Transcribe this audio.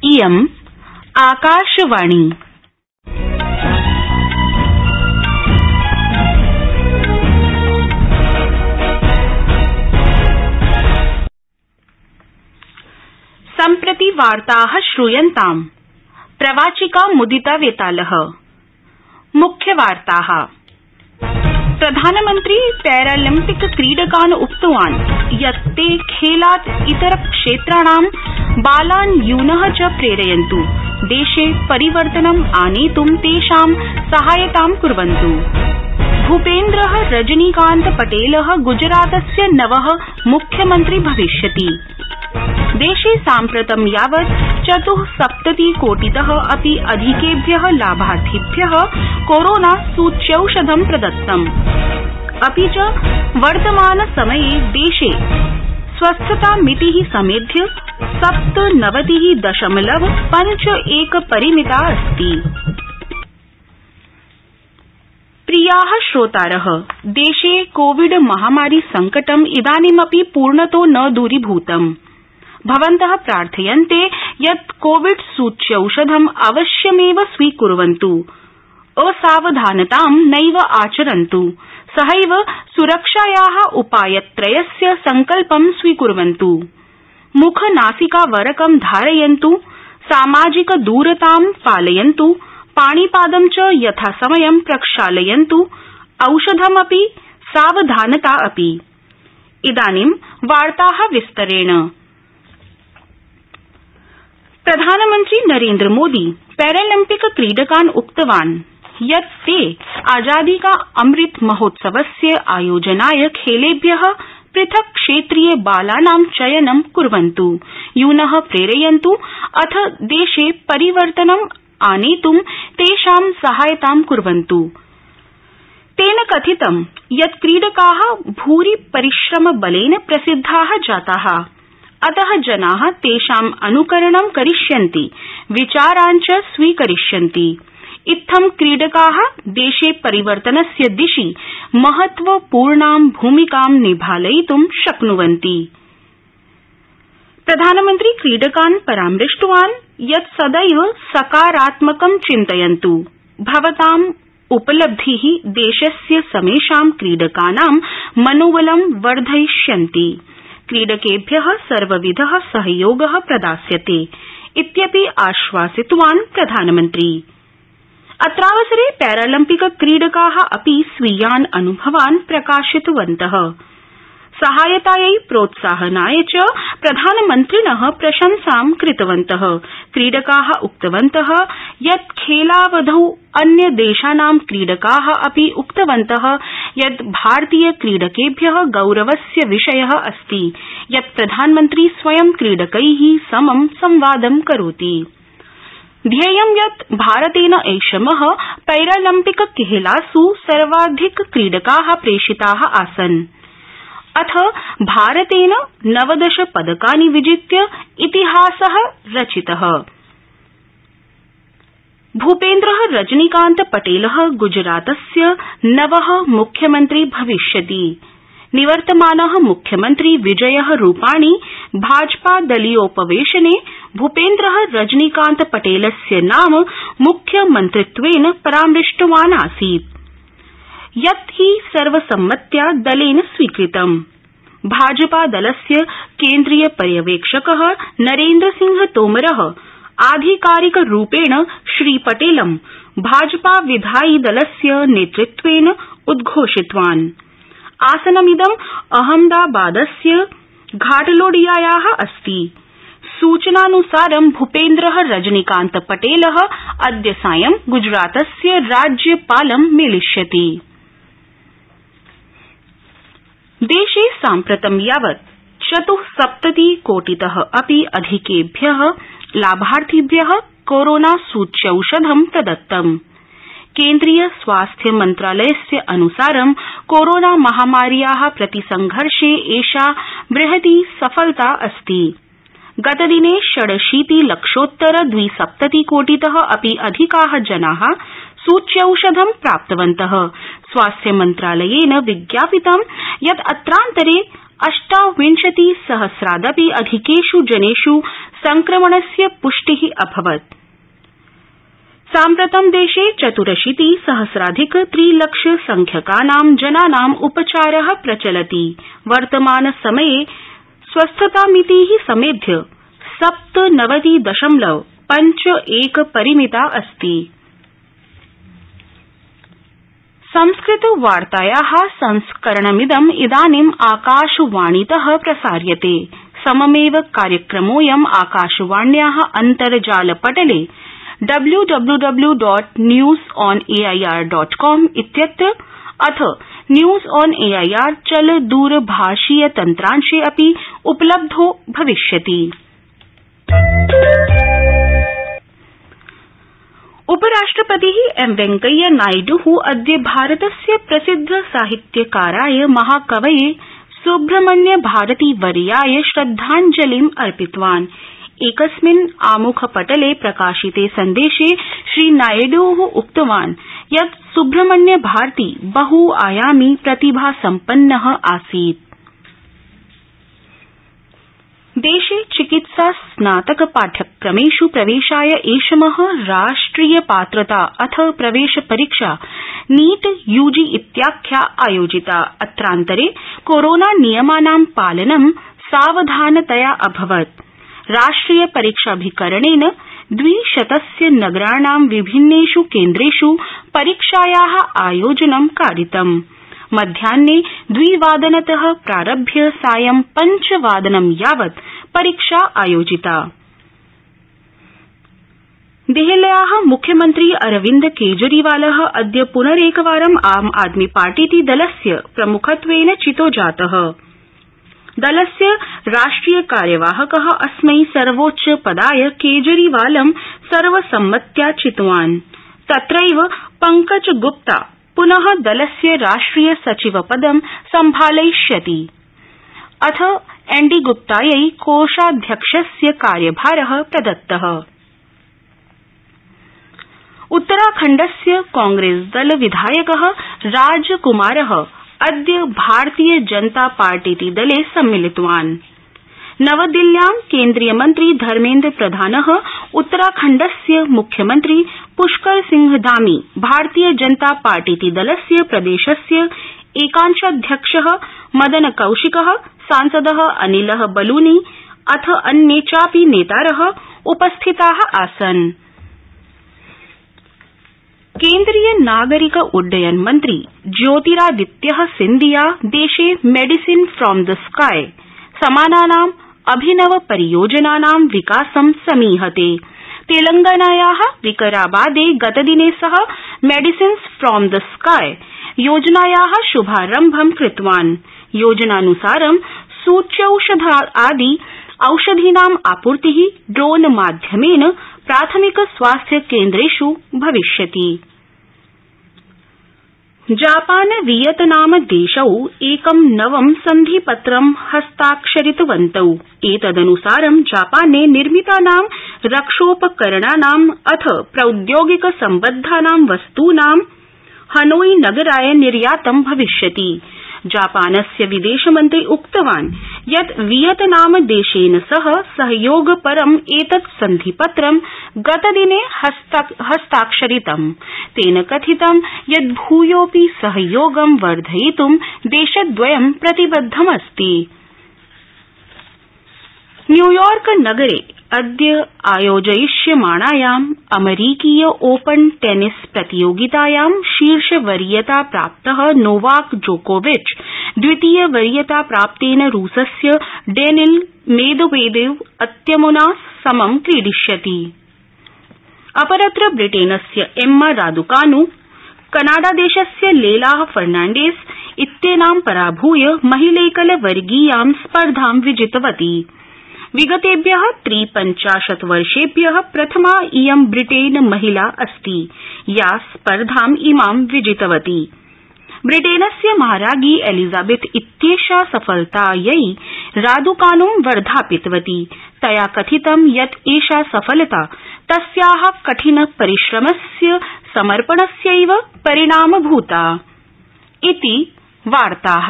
इयम् आकाशवाणी। सम्प्रति वार्ताः श्रूयन्ताम्। प्रवाचिका मुदिता वेतालः। मुख्यवार्ताः। प्रधानमन्त्री पैरालम्पिक क्रीडकान् उक्तवान् यत् ते खेलात् इतर क्षेत्राणां बालान् यूनः च प्रेरयन्तु, देशे परिवर्तनम् आनेतुं तेषां सहायतां कुर्वन्तु। भूपेन्द्रः रजनीकान्त पटेलः गुजरातस्य नवः मुख्यमन्त्री भविष्यति। देशे साम्प्रतं यावत् 74 कोटितः अपि अधिकेभ्यः लाभार्थिभ्यः कोरोना सूच्यौषधं प्रदत्तम्। अपि च वर्तमान समये देशे स्वस्थतामितिः समेध्य 97.51 परिमिता अस्ति। प्रियाः श्रोतारः, देशे कोविड महामारी संकटम् इदानीमपि पूर्णतो न दूरीभूतम्। भवन्तः प्रार्थयन्ते यत् कोविड सूच्यौषधम् अवश्यमेव स्वीकुर्वन्तु, असावधानतां नैव आचरन्तु, सहैव सुरक्षायाः उपायत्रयस्य संकल्पं स्वीकुर्वन्तु। मुखनासिकावरकं धारयन्तु, सामाजिकदूरतां पालयन्तु, पाणिपादं च यथासमयं प्रक्षालयन्तु, औषधमपि सावधानता अपि। इदानीं वार्ताः विस्तरेण। प्रधानमन्त्री नरेन्द्रमोदी पैरालम्पिक क्रीडकान् उक्तवान् यत् ते आजादी का अमृत महोत्सवस्य आयोजनाय खेलेभ्यः पृथक् क्षेत्रीय बालानां चयनं कुर्वन्तु, यूनः प्रेरयन्तु, अथ देशे परिवर्तनम् आनेतुं तेषां सहायतां कुर्वन्तु। तेन कथितं यत् क्रीडकाः भूरि परिश्रमबलेन प्रसिद्धाः जाताः, अतः जनाः तेषाम् अनुकरणं करिष्यन्ति, विचारान् च स्वीकरिष्यन्ति। इत्थं क्रीडकाः देशे परिवर्तनस्य दिशि महत्वपूर्णां भूमिकां निभालयितुं शक्नुवन्ति। प्रधानमन्त्री क्रीडकान् परामृष्टवान् यत् सदैव सकारात्मकं चिन्तयन्तु, भवताम् उपलब्धिः देशस्य समेषां क्रीडकानां मनोबलं वर्धयिष्यन्ति, क्रीडकेभ्यः सर्वविधः सहयोगः प्रदास्यते इत्यपि आश्वासितवान् प्रधानमन्त्री। अत्रावसरे पैरालम्पिक क्रीडकाः अपि स्वीयान् अनुभवान् प्रकाशितवन्तः। सहायतायै प्रोत्साहनाय च प्रधानमन्त्रिणः प्रशंसां कृतवन्तः। क्रीडकाः उक्तवन्तः यत् खेलावधौ अन्यदेशानां क्रीडकाः अपि उक्तवन्तः यत् भारतीय क्रीडकेभ्यः गौरवस्य विषयः अस्ति यत् प्रधानमन्त्री स्वयं क्रीडकैः समं संवादं करोति। ध्येयं यत् भारतेन ऐषमः पैरालम्पिक खेलासु सर्वाधिक क्रीडकाः प्रेषिताः आसन्। अथ भारतेन 19 पदकानि विजित्य इतिहासः रचितः। भूपेन्द्रः रजनीकान्त पटेलः गुजरातस्य नवः मुख्यमन्त्री भविष्यति। निवर्तमानः मुख्यमन्त्री विजयः रूपाणी भाजपादलीयोपवेशने भूपेन्द्रः रजनीकान्त पटेलस्य नाम मुख्यमन्त्रित्वेन परामृष्टवान् आसीत्, यत् हि सर्वसम्मत्या दलेन स्वीकृतम्। भाजपादलस्य केन्द्रीय पर्यवेक्षकः नरेन्द्रसिंह तोमरः आधिकारिकरूपेण श्रीपटेलं भाजपा विधायि दलस्य नेतृत्वेन उद्घोषितवान्। आसनमिदं अहमदाबादस्य घाटलोडियायाः अस्ति। सूचनानुसारं भूपेन्द्रः रजनीकान्त पटेलः अद्य सायं गुजरातस्य राज्यपालं मेलिष्यति। देशे साम्प्रतं यावत् 74 कोटितः अपि अधिकेभ्यः लाभार्थिभ्यः कोरोना सूच्यौषधं प्रदत्तम्। केन्द्रीय स्वास्थ्य मन्त्रालयस्य अनुसारं कोरोना महामार्याः प्रतिसंघर्षे एषा बृहती सफलता अस्ति। गतदिने 86,00,000 कोटितः अपि अधिकाः जनाः सूच्यौषधं प्राप्तवन्तः। स्वास्थ्य मन्त्रालयेन विज्ञापितं यत् अत्रान्तरे 28,000,000 अधिकेषु जनेषु संक्रमणस्य पुष्टि अभवत्। साम्प्रतं देशे 84,000,000 3,00,000 संख्यकानां जनानां उपचार प्रचलति। वर्तमान समये स्वस्थतामिति समेध्य 97.51 परिमिता अस्ति। संस्कृतवार्ताया संस्करणमिदं इदानीं आकाशवाणीत प्रसार्यते। सममेव कार्यक्रमोऽयं आकाशवाण्या अन्तर्जालपटले www.newsonair.com इत्यत्र अथ न्यूज ऑन एआईआर चलदूरभाषीय तन्त्रांशे अपि उपलब्धो भविष्यति। उपराष्ट्रपति एम वेंकैया नायड् अद्य भारतस्य प्रसिद्ध साहित्यकाराय महाकवये सुब्रह्मण्य भारती वर्याय श्रद्धाञ्जलिम् अर्पितवान्। एकस्मिन् आमुखपटले प्रकाशिते सन्देशे श्रीनायड् उक्तवान् यत् सुब्रह्मण्य भारती बहुआयामी प्रतिभासम्पन्नः आसीत्। देशे चिकित्सा स्नातक पाठ्यक्रमेषु प्रवेशाय ऐषमः राष्ट्रिय पात्रता अथ प्रवेश परीक्षा नीट यूजी इत्याख्या आयोजिता। अत्रान्तरे कोरोना नियमानां पालनं सावधानतया अभवत्। राष्ट्रिय परीक्षाभिकरणेन 200 नगराणां विभिन्नेषु केन्द्रेषु परीक्षाया आयोजनं कारितम्। मध्याह्ने 2:00 प्रारभ्य सायं 5:00 यावत् परीक्षा आयोजिता। देहल्या मुख्यमन्त्री अरविन्द केजरीवाल अद्य पुनरेकवारं आम आदमी पार्टीति दलस्य प्रमुखत्वेन चितो जातः। दलस्य राष्ट्रिय कार्यवाहक अस्मै सर्वोच्च पदाय केजरीवालं सर्वसम्मत्या चितवान्। तत्रैव पंकज गुप्ता पुनः दलस्य राष्ट्रिय सचिव पदं सम्भालयिष्यति। अथ एनडी गुप्तायै कोषाध्यक्षस्य कार्यभारः प्रदत्तः। उत्तराखण्डस्य कांग्रेसदल विधायकः राजकुमारः अद्य भारतीय जनता पार्टीति दले सम्मिलितवान्। नवदिल्ल्यां केन्द्रीय मन्त्री धर्मेन्द्र प्रधानः उत्तराखण्डस्य मुख्यमन्त्री पुष्कर सिंह धामी भारतीय जनता पार्टीति दलस्य प्रदेशस्य एकांशाध्यक्षः मदन कौशिकः सांसदः अनिलः बलूनी अथ अन्ये चापि नेतारः उपस्थिताः आसन्। केन्द्रीय नागरिक उड्डयन मन्त्री ज्योतिरादित्य सिंधिया देशे मेडिसिन फ्रॉम द स्काई समानानां अभिनव परियोजनानां विकासं समीहते। तेलंगानाया विकाराबादे गतदिने सः मेडिसिन्स फ्रॉम द स्काई योजनाया शुभारम्भं कृतवान्। योजनानुसारं सूच्यौषधादि औषधीनाम् आपूर्तिः ड्रोन माध्यमेन प्राथमिक स्वास्थ्य केन्द्रेषु भविष्यति। जापान वियतनाम देशौ एकं नवं सन्धिपत्रं हस्ताक्षरितवन्तौ। एतदनुसारं जापाने निर्मितानां रक्षोपकरणानाम् अथ प्रौद्योगिक सम्बद्धानां वस्तूनां हनोई नगराय निर्यातं भविष्यति। जापानस्य विदेशमन्त्री उक्तवान् यत् वियतनाम देशेन सह सहयोगपरं एतत् सन्धिपत्रं गतदिने हस्ताक्षरितम्। तेन कथितं यत् भूयोऽपि सहयोगं वर्धयितुं देशद्वयं प्रतिबद्धमस्ति। न्यूयॉर्क नगरे अद्य आयोजयिष्यमाणायाम् अमरीकीय ओपन टेनिस प्रतियोगितायां शीर्षवरीयता प्राप्तः नोवाक जोकोविच द्वितीय वरीयता प्राप्तेन रूसस्य डेनिल मेदवेदेव अत्यमुना समं क्रीडिष्यति। अपरत्र ब्रिटेनस्य एम्मा रादुकानु कनाडादेशस्य लेला फर्नाण्डेस इत्येनां पराभूय महिलैकलवर्गीयां स्पर्धां विजितवती। विगतेभ्यः 53 वर्षेभ्यः प्रथमा इयं ब्रिटेन महिला अस्ति या स्पर्धाम् इमां विजितवती। ब्रिटेनस्य महाराज्ञी एलिजाबेथ इत्येषा सफलतायै रादुकानुं वर्धापितवती। तया कथितं यत् एषा सफलता तस्याः कठिन परिश्रमस्य समर्पणस्यैव परिणामभूता इति वार्ताः।